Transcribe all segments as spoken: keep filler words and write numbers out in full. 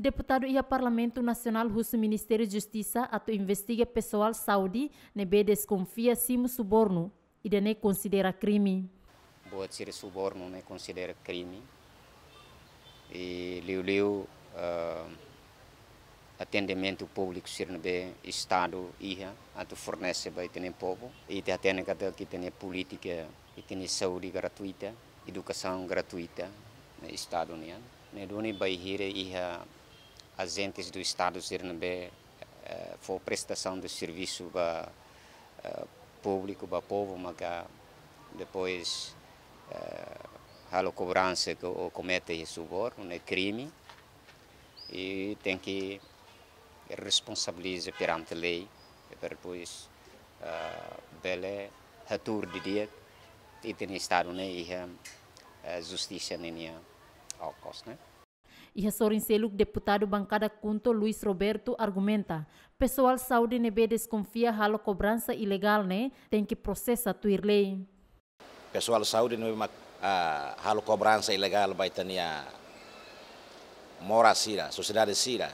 Deputadu iha Parlamentu Nasionál husu Ministériu Justisa atu investiga pesoál saúde ne'ebé deskonfia simu subornu, ida-ne'e konsidera krime. Buat sira subornu ne'e konsidera krime. I liuliu, eh, atendimentu públiku sira ne'ebé Estadu iha atu fornese ba ita-nia povu. Ita hatene katak ita-nia polítika, ita-nia saúde gratuita, edukasaun gratuita, ne'e Estadu nian. Ne'e duni bainhira iha ajentes do Estadu sira ne'ebé, eh, fó prestasaun de servisu ba, eh, públiku, ba povu, maka depois, eh, halo kobransa ka, ou komete subornu, ne'e krime, i tenke responsabiliza perante lei, para depois, eh, bele hatuur didi'ak ita-nia Estadu ne'e iha, eh, justisa ninia okos, ne'e. Iha sorin seluk, Deputadu Bankada KHUNTO Luis Roberto argumenta, pesoál saúde ne'ebé deskonfia halo kobransa ilegál ne'e tenke prosesa tuir lei. Pesoál saúde ne'ebé mak, ah, halo kobransa ilegál ba ita-nia moras sira, sosiedade sira,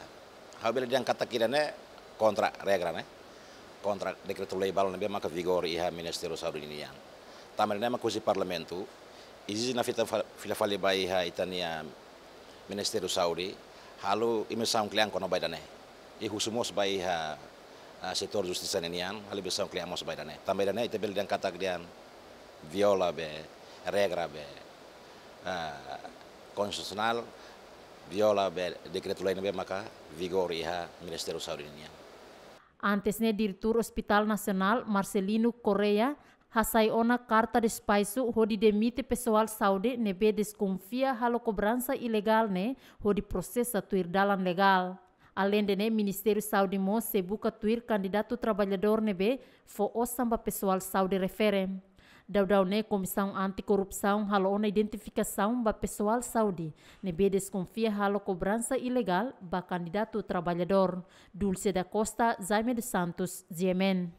ha'u bele dehan katak ida-ne'e kontra regra, ne'e, kontra dekretu-lei balu ne'ebé maka vigora iha Ministériu Saúde nian. Tanba ne'e mak husi Parlamentu ezije nafatin fa-, fila fali ba iha ita-nia Ministériu Saúde, halo investigasaun kle'an kona-ba ida-ne'e. I husu mós ba iha, ah, setór justisa nian, halo investigasaun kle'an mós ba ida-ne'e. Tanba ida-ne'e ita bele dehan katak dehan viola be regra be, ah, konstitusionál, viola be dekretu-lei ne'ebé maka vigora iha Ministériu Saúde nian. Antes ne'e, Diretór Hospital Nasionál, Marcelino Correia, hasai ona karta despaxu hodi demite pesoál saúde ne'ebé deskonfia halo kobransa ilegál ne'e hodi prosesa tuir dalan legál. Aleinde ne'e, Ministériu Saúde mós sei buka tuir kandidatu traballadór ne'ebé fó osan ba pesoál saúde refere. Daudaun ne'e, Komisaun Anti-Korrupsaun halo ona identifikasaun ba pesoál saúde ne'ebé deskonfia halo kobransa ilegál ba kandidatu traballadór. Dulce da Costa, Jaime dos Santos, G M N.